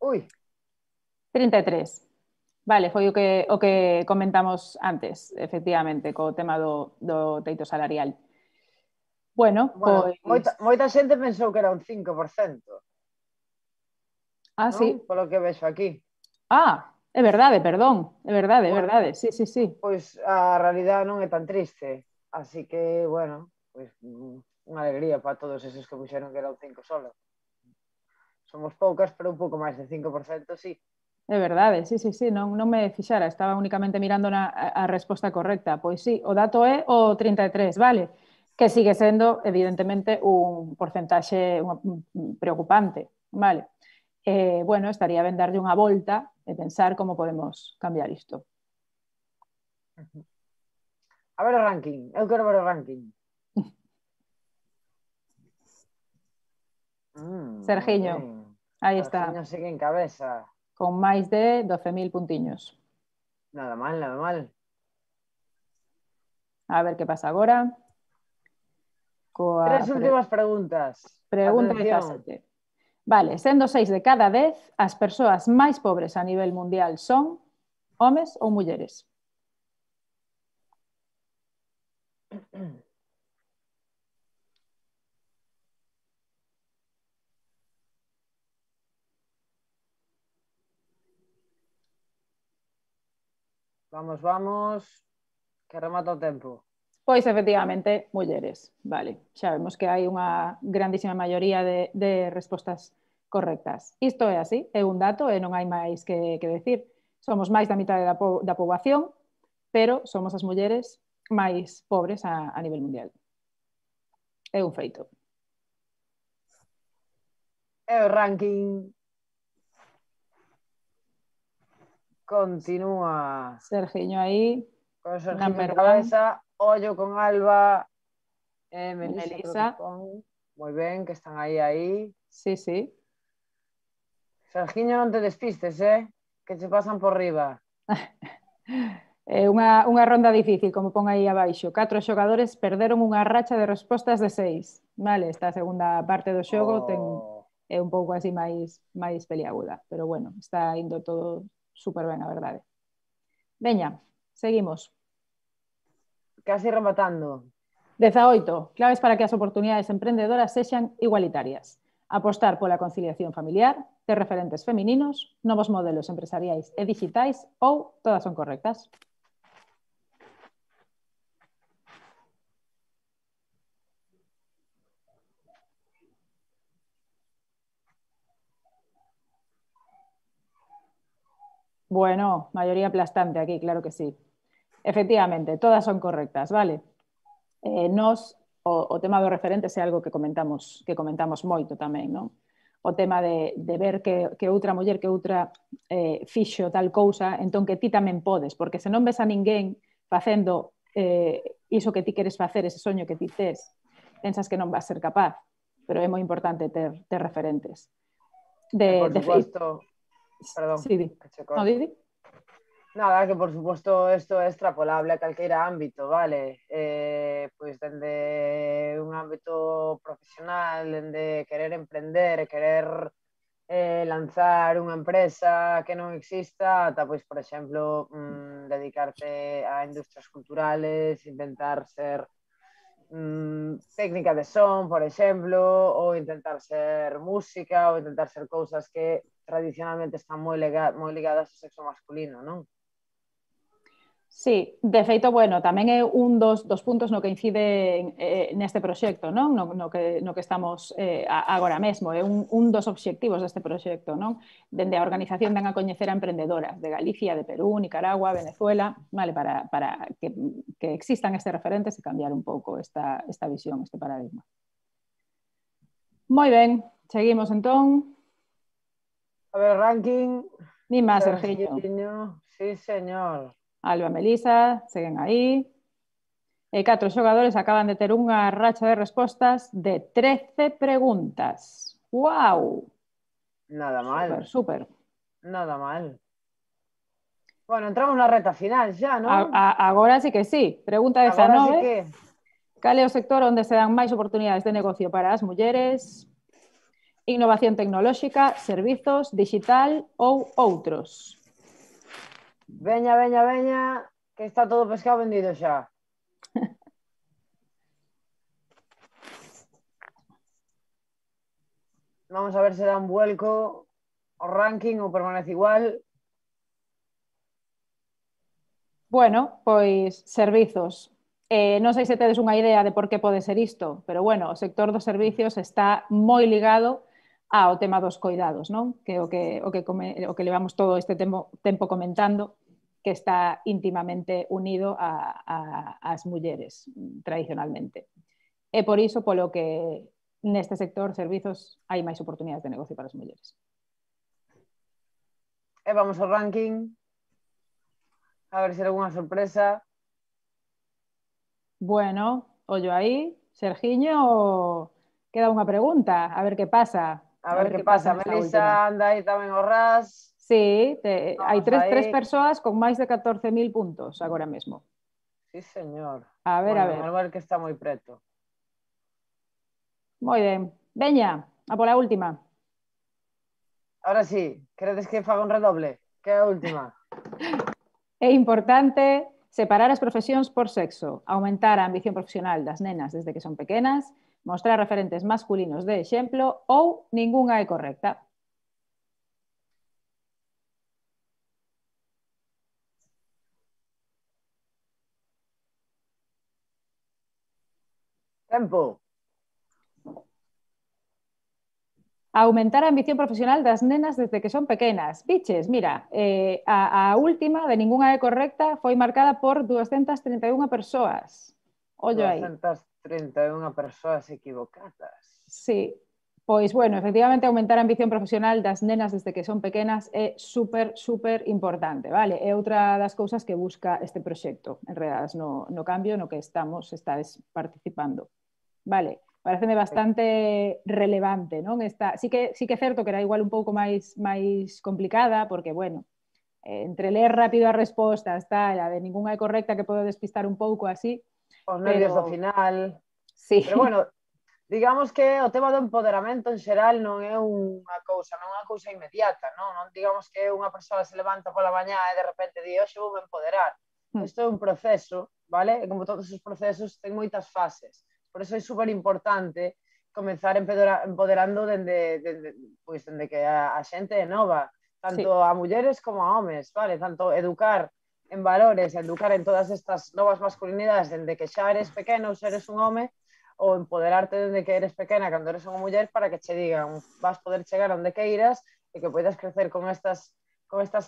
Ui. 33. Vale, foi o que comentamos antes, efectivamente, co tema do teito salarial. Bueno, pois... Moita xente pensou que era un 5%. Ah, non? sí. Polo que vexo aquí. Ah, é verdade, perdón. É verdade. Sí. Pois a realidade non é tan triste. Así que, bueno, pois unha alegría para todos esos que puxeron que era un 5 solo. Somos poucas, pero un pouco máis de 5%, sí. É verdade, sí, non me fixara, estaba únicamente mirando a resposta correcta. Pois sí, o dato é o 33, vale? Que sigue sendo, evidentemente, un porcentaxe preocupante, vale? Bueno, estaría ben darlle unha volta e pensar como podemos cambiar isto. A ver o ranking, eu quero ver o ranking. Sergiño, aí está. Sergiño sigue en cabeza. Con máis de 12.000 puntiños. Nada mal. A ver que pasa agora. Tres últimas preguntas. Pregunta 17. Vale, sendo 6 de cada 10, as persoas máis pobres a nivel mundial son homes ou mulleres? Vamos. Que remata o tempo. Pois, efectivamente, mulleres. Vale, xa vemos que hai unha grandísima maioría de respostas correctas. Isto é así, é un dato e non hai máis que decir. Somos máis da mitad da poboación, pero somos as mulleres máis pobres a nivel mundial. É un feito. E o ranking continúa. Sergiño aí, Con Sergiño en number cabeza, ollo con Alba e Melisa, creo que Melisa. pon. Moi ben, que están aí. Sí, sí. Sergiño, non te despistes, que che pasan por riba. É unha ronda difícil, como pon aí abaixo. 4 xogadores perderon unha racha de respostas de 6. Vale, esta segunda parte do xogo é un pouco así máis peliaguda, pero bueno, está indo todo super ben, a verdade. Veña, seguimos. Casi rematando. 18. Claves para que as oportunidades emprendedoras sexan igualitarias. Apostar pola conciliación familiar, ter referentes femininos, novos modelos empresariais e digitais ou todas son correctas. Bueno, maioría aplastante aquí, claro que sí. Efectivamente, todas son correctas, vale? O tema dos referentes é algo que comentamos moito tamén, non? O tema de ver que outra muller, que outra fixo tal cousa, entón que ti tamén podes, porque se non ves a ninguén facendo iso que ti queres facer, ese soño que ti tes, pensas que non vas ser capaz, pero é moi importante ter referentes. Por suposto, perdón, sí, que che corto. No, Didi? Nada, que por suposto isto é extrapolable a calqueira ámbito, vale? Pois dende un ámbito profesional, dende querer emprender, querer lanzar unha empresa que non exista, ata, pois, por exemplo, dedicarte a industrias culturales, intentar ser técnica de son, por exemplo, ou intentar ser música, ou intentar ser cousas que tradicionalmente están moi ligadas ao sexo masculino, non? Sí, de feito, bueno, tamén é un dos puntos no que incide neste proxecto, non? No que estamos agora mesmo, é un dos obxectivos deste proxecto, non? Dende a organización dan a coñecer a emprendedoras de Galicia, de Perú, Nicaragua, Venezuela, vale, para que existan estes referentes e cambiar un pouco esta visión, este paradigma. Moi ben, seguimos entón. A ver, ranking. Ni máis, Sergiño. Sí, señor. Alba, Melisa, seguen aí. E 4 xogadores acaban de ter unha racha de respostas de 13 preguntas. ¡Guau! Nada mal. Super. Nada mal. Bueno, entramos na reta final xa, non? Agora sí que sí. Pregunta 19. Agora sí que... Cal é o sector onde se dan máis oportunidades de negocio para as mulleres? Innovación tecnolóxica, servizos, digital ou outros? Veña, que está todo pescado vendido xa. Vamos a ver se dá un vuelco o ranking ou permanece igual. Bueno, pois servizos. Non sei se tedes unha idea de por que pode ser isto, pero bueno, o sector dos servicios está moi ligado ao tema dos coidados, non? Que o que levamos todo este tempo comentando, que está íntimamente unido ás mulleres tradicionalmente. É por iso polo que neste sector servizos hai máis oportunidades de negocio para as mulleres. E vamos ao ranking. A ver se hai alguna sorpresa. Bueno, ollo aí, Sergiño, queda unha pregunta, a ver que pasa. A ver que pasa, Melisa anda aí tamén ao ras. Sí, hai tres persoas con máis de 14.000 puntos agora mesmo. Sí, señor. A ver. Manuel que está moi preto. Moi ben. Veña, a pola última. Ahora sí, queredes que faga un redoble? Que é a última. É importante separar as profesións por sexo, aumentar a ambición profesional das nenas desde que son pequenas, mostrar referentes masculinos de exemplo ou ningunha é correcta. Tempo. Aumentar a ambición profesional das nenas desde que son pequenas. Biches, mira, a última de ningunha é correcta foi marcada por 231 persoas. Ollo aí. 231 persoas equivocadas. Sí, pois, bueno, efectivamente aumentar a ambición profesional das nenas desde que son pequenas é super importante, vale? É outra das cousas que busca este proxecto, enredadas no cambio no que estades participando. Vale, pareceme bastante relevante, non? Sí que é certo que era igual un pouco máis complicada, porque, bueno, entre ler rápido as respostas, tal, a de ningunha é correcta que podo despistar un pouco así. Os nervios do final. Sí. Pero, bueno, digamos que o tema do empoderamento en xeral non é unha cousa inmediata, non digamos que unha persoa se levanta pola mañá e de repente di, hoxe vou me empoderar. Isto é un proceso, vale? E como todos os procesos ten moitas fases. Por eso é super importante comenzar empoderando dende que a xente é nova, tanto a mulleres como a homes, vale? Tanto educar en valores, educar en todas estas novas masculinidades dende que xa eres pequeno ou eres un home, ou empoderarte dende que eres pequena cando eres unha muller para que che digan vas poder chegar onde queiras e que podes crecer con estas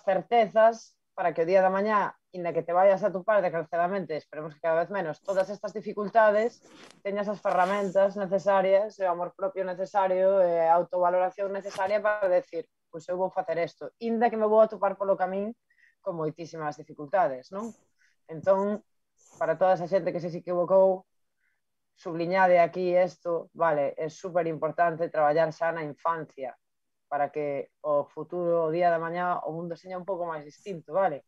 certezas para que o día da mañá, inda que te vayas a topar desgraciadamente, esperemos que cada vez menos, todas estas dificultades, teñas as ferramentas necesarias, o amor propio necesario, a autovaloración necesaria para decir, pois eu vou facer isto, inda que me vou a topar polo camín con moitísimas dificultades, non? Entón, para toda esa xente que se equivocou, subliñade aquí isto, vale, é super importante traballar xa na infancia para que o futuro, o día da mañá, o mundo seña un pouco máis distinto, vale?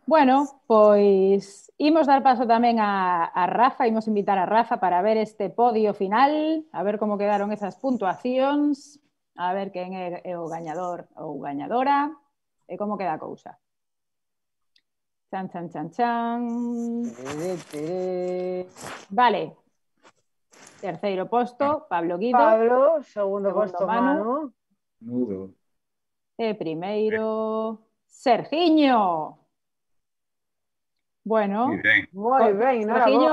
Bueno, pois imos dar paso tamén a Rafa, imos invitar a Rafa para ver este podio final, a ver como quedaron esas puntuacións, a ver quen é o gañador ou gañadora e como queda a cousa. Chan. Vale. Terceiro posto, Pablo Guido. Pablo, segundo posto, Manu. Nudo. E primeiro, Sergiño. Bueno, moi ben, Sergiño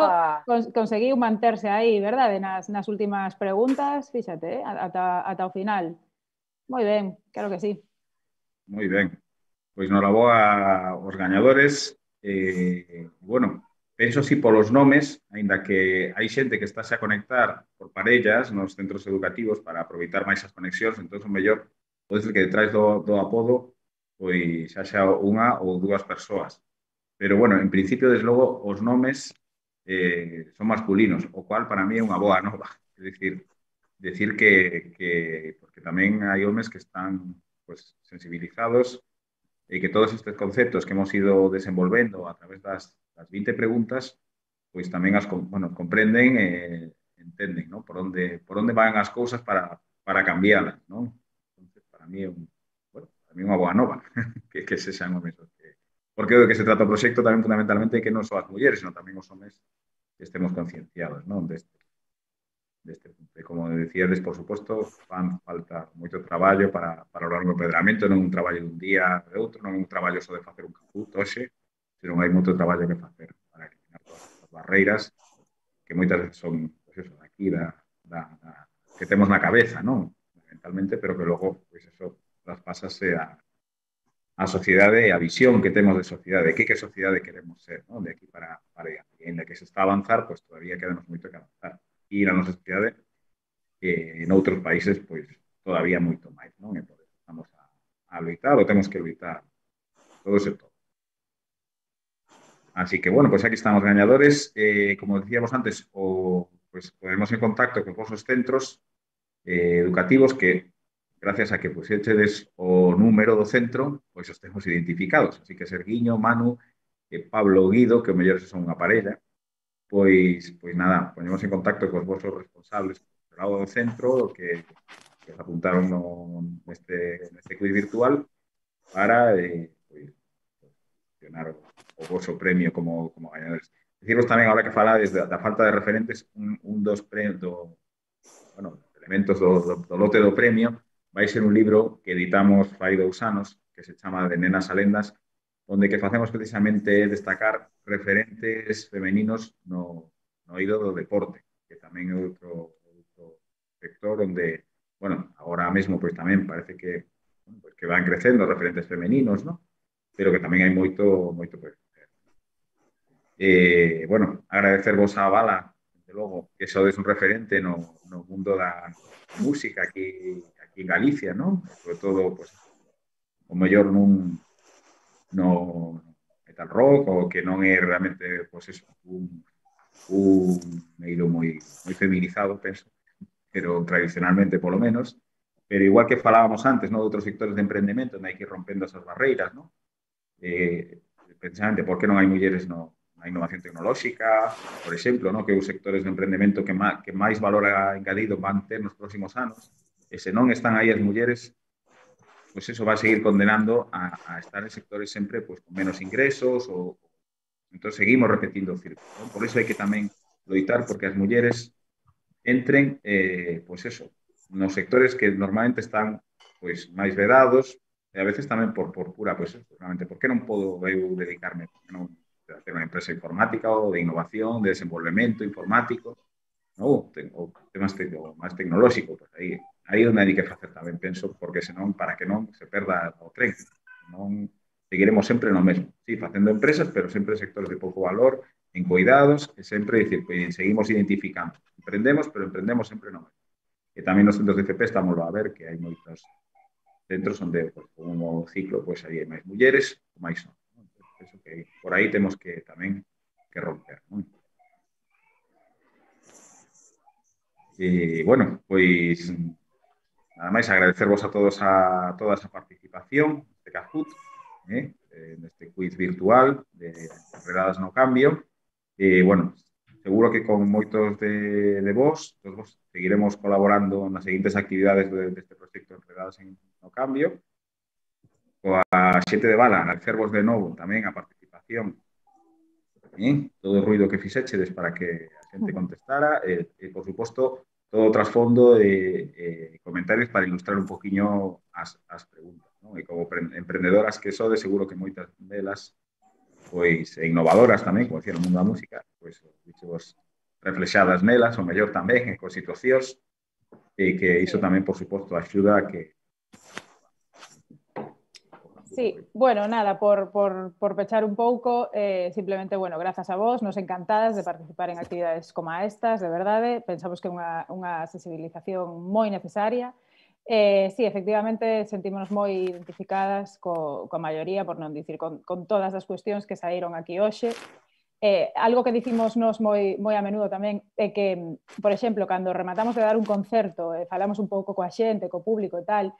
conseguiu manterse aí, verdade? Nas últimas preguntas, fíxate, ata o final. Moi ben, claro que sí. Moi ben. Pois noraboa aos gañadores. Bueno, penso así polos nomes, aínda que hai xente que está a conectar por parellas nos centros educativos para aproveitar máis as conexións, entón o mellor pode ser que detrás do apodo pois xa unha ou dúas persoas. Pero, bueno, en principio, desde logo, os nomes son masculinos, o cual para mí é unha boa nova. É decir que porque tamén hai homes que están pues, sensibilizados e que todos estes conceptos que hemos ido desenvolvendo a través das 20 preguntas, pois tamén as comprenden e entenden, ¿no? por onde van as cousas para cambialas, ¿no? Entonces, para mí é unha boa nova que se xan homes porque do que se trata o proxecto tamén fundamentalmente é que non só as mulleres, sino tamén os homes que estemos concienciados, non? Deste punto. E como decíades, por suposto, fan falta moito traballo para lograr un empoderamento, non un traballo dun día de outro, non un traballo só de facer un caput hoxe, senón hai moito traballo que facer para eliminar todas as barreiras que moitas veces son, pues eso, aquí que temos na cabeza, non? Mentalmente, pero que logo, pues eso, traspásase a sociedade e a visión que temos de sociedade, que sociedade queremos ser, ¿no? De aquí para allá. E en la que se está a avanzar, pues todavía quedanos moito que avanzar. E na nosa sociedade, en outros países, pues todavía moito máis, non? E por eso estamos a loitar, ou temos que loitar todos e todos. Así que, bueno, pues aquí están os gañadores. Como decíamos antes, pues ponemos en contacto con vosos centros educativos que gracias a que puxechedes o número do centro, pois os temos identificados. Así que Sergiño, Manu, Pablo Guido, que o mellor son unha parella, pois nada, ponemos en contacto cos vosos responsables do lado do centro que se apuntaron neste quiz virtual para gestionar o vosso premio como gañadores. Deciros tamén, ahora que falades da falta de referentes, un dos elementos do lote do premio vai ser un libro que editamos fai 2 anos, que se chama De nenas a lendas, onde que facemos precisamente destacar referentes femeninos no no eido do deporte, que tamén é outro sector onde, bueno, agora mesmo pois tamén parece que, bueno, pues, que van crecendo referentes femeninos, ¿no? Pero que tamén hai moito por facer. Bueno, agradecervos a Bala, desde logo, que sodes un referente no mundo da música aquí en Galicia, ¿no? Sobre todo, pues, o mellor no metal rock, o que non é realmente, pues eso, un eido moi feminizado, penso, pero tradicionalmente polo menos, pero igual que falábamos antes, ¿no? De outros sectores de emprendemento, onde hai que ir rompendo esas barreiras, ¿no? Precisamente, por que non hai mulleres na innovación tecnolóxica, por exemplo, ¿no? Que os sectores de emprendemento que máis valor engadido van ter nos próximos anos, e se non están aí as mulleres, pues eso va a seguir condenando a estar en sectores sempre pues, con menos ingresos, ou entón seguimos repetindo o círculo, ¿no? Por iso hai que tamén loitar porque as mulleres entren, pues eso, nos sectores que normalmente están pues máis vedados, e a veces tamén por pura, pues, realmente, por que non podo eu dedicarme, por que non a ter unha empresa informática ou de innovación, de desenvolvemento informático, ou temas máis tecnolóxico, pues aí onde hai que facer tamén, penso, porque senón, para que non se perda o tren, non seguiremos sempre no mesmo, sí, facendo empresas, pero sempre sectores de pouco valor, en cuidados, e sempre dicir, pues, seguimos identificando, emprendemos, pero emprendemos sempre no mesmo. E tamén nos centros de FP estamos a ver que hai moitos centros onde, pues, como ciclo, pues, hai máis mulleres ou máis non. Penso que por aí temos que tamén que romper, non? E, bueno, pois nada máis agradecervos a todos toda esa participación neste Kahoot, neste quiz virtual de Enredadas no Cambio. E, bueno, seguro que con moitos de vos, todos vos seguiremos colaborando nas seguintes actividades deste proxecto Enredadas no Cambio. Coa xente de Bala, agradecervos de novo tamén a participación, todo o ruido que fixéchedes para que a xente contestara, e por suposto, todo o trasfondo de comentarios para ilustrar un poquinho as preguntas, ¿no? E como emprendedoras que sodes, seguro que moitas delas, pois, innovadoras tamén, como decía, no mundo da música, pois, vos reflexadas nelas, o mellor tamén, con situacións, e que iso tamén, por suposto, axuda a que... Sí, bueno, nada, por pechar un pouco, simplemente, bueno, grazas a vos, nos encantadas de participar en actividades como estas, de verdade, pensamos que é unha sensibilización moi necesaria. Sí, efectivamente, sentímonos moi identificadas coa maioría, por non dicir con todas as cuestións que saíron aquí hoxe. Algo que dicimos nos moi a menudo tamén é que, por exemplo, cando rematamos de dar un concerto, falamos un pouco coa xente, co público e tal,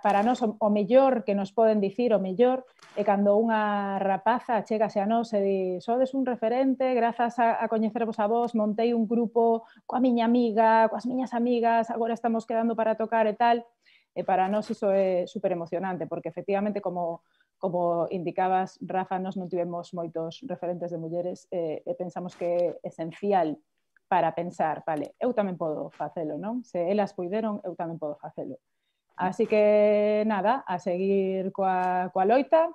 para nós o mellor que nos poden dicir, o mellor é cando unha rapaza chegase a nós e di, sodes un referente, grazas a coñecervos a vos, montei un grupo coa miña amiga, coas miñas amigas, agora estamos quedando para tocar e tal, e para nós iso é super emocionante, porque efectivamente, como indicabas, Rafa, nós non tivemos moitos referentes de mulleres e pensamos que é esencial para pensar, vale, eu tamén podo facelo, non? Se elas puideron, eu tamén podo facelo. Así que, nada, a seguir coa loita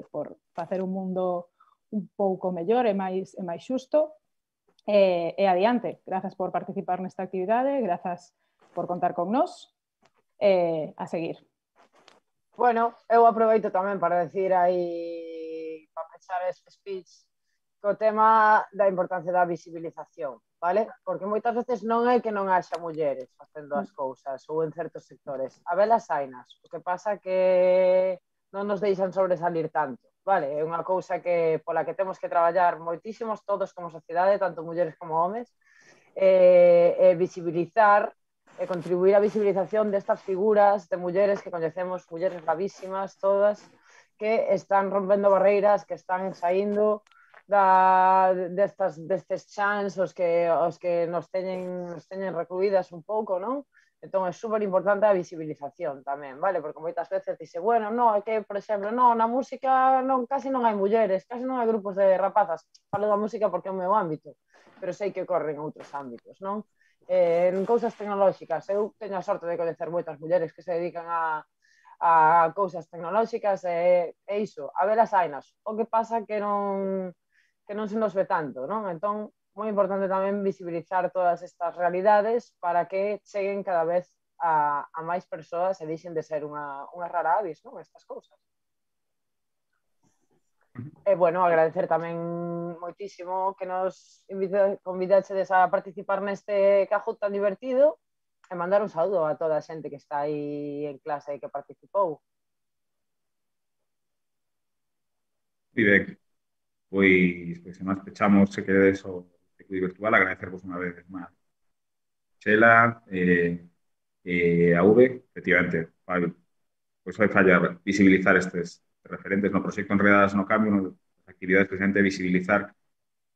por facer un mundo un pouco mellor e máis xusto e adiante. Grazas por participar nesta actividade, grazas por contar con nós a seguir. Bueno, eu aproveito tamén para decir aí, para pechar este speech, co tema da importancia da visibilización, vale? Porque moitas veces non é que non haxa mulleres facendo as cousas ou en certos sectores. A velas hainas. O que pasa que non nos deixan sobresalir tanto, vale? É unha cousa que pola que temos que traballar moitísimos todos como sociedade, tanto mulleres como homes, visibilizar e contribuir á visibilización destas figuras de mulleres que coñecemos, mulleres bravísimas, todas, que están rompendo barreiras, que están saindo destes chans os que nos teñen recluídas un pouco, non? Entón é super importante a visibilización tamén, vale? Porque moitas veces dice, bueno, non, é que, por exemplo, non, na música casi non hai mulleres, casi non hai grupos de rapazas. Falo da música porque é o meu ámbito, pero sei que ocorre en outros ámbitos, non? En cousas tecnolóxicas, eu teño a sorte de coñecer moitas mulleres que se dedican a cousas tecnolóxicas e iso, a velas hainas. O que pasa que non se nos ve tanto, non? Entón, moi importante tamén visibilizar todas estas realidades para que cheguen cada vez a máis persoas e deixen de ser unha rara avis, non? Estas cousas. E, bueno, agradecer tamén moitísimo que nos convidaxedes a participar neste Kahoot tan divertido e mandar un saúdo a toda a xente que está aí en clase e que participou. Moi ben. Pois se máis pechamos, se queredes o circuito virtual, agradecervos unha vez máis. Chela, a V, efectivamente, pois vai fallar visibilizar estes referentes no proxecto Enredadas no Cambio, as actividades precisamente visibilizar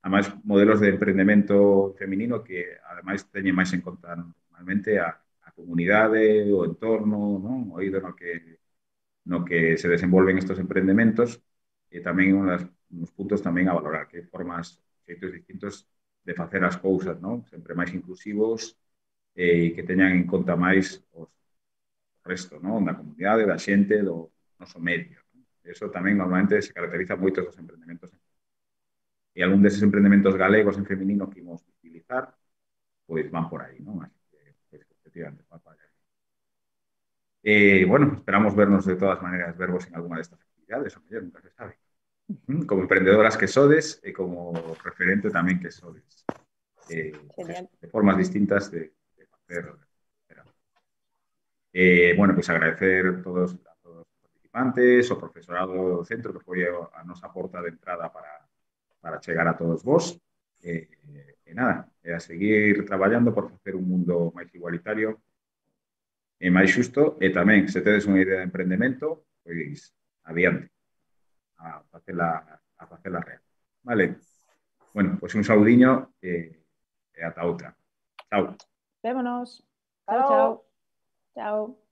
a máis modelos de emprendemento feminino que ademais teñen máis en conta normalmente a comunidade, o entorno, non? O eido no que se desenvolven estes empreendementos e tamén uns puntos tamén a valorar, que formas, xeitos distintos de facer as cousas, non? Sempre máis inclusivos e que teñan en conta máis o resto, non? Da comunidade, da xente, do noso medio. Eso tamén normalmente se caracteriza moito dos empreendementos. E algún deses empreendementos galegos en feminino que imos utilizar, pois van por aí, non? Así que, pois, efectivamente, van por aí. Bueno, esperamos vernos de todas maneras, vervos en alguna destas actividades, o mellor, nunca se sabe. Como emprendedoras que sodes e como referente tamén que sodes. De formas distintas de facer. Bueno, pois agradecer a todos os participantes, o profesorado do centro que foi a nosa porta de entrada para chegar a todos vos. Nada, a seguir traballando por facer un mundo máis igualitario e máis xusto, e tamén, se tedes unha idea de emprendemento, pois adiante, a facela real. Vale? Bueno, pois un saudiño e ata outra. Chao. Vémonos. Chao, chao. Chao.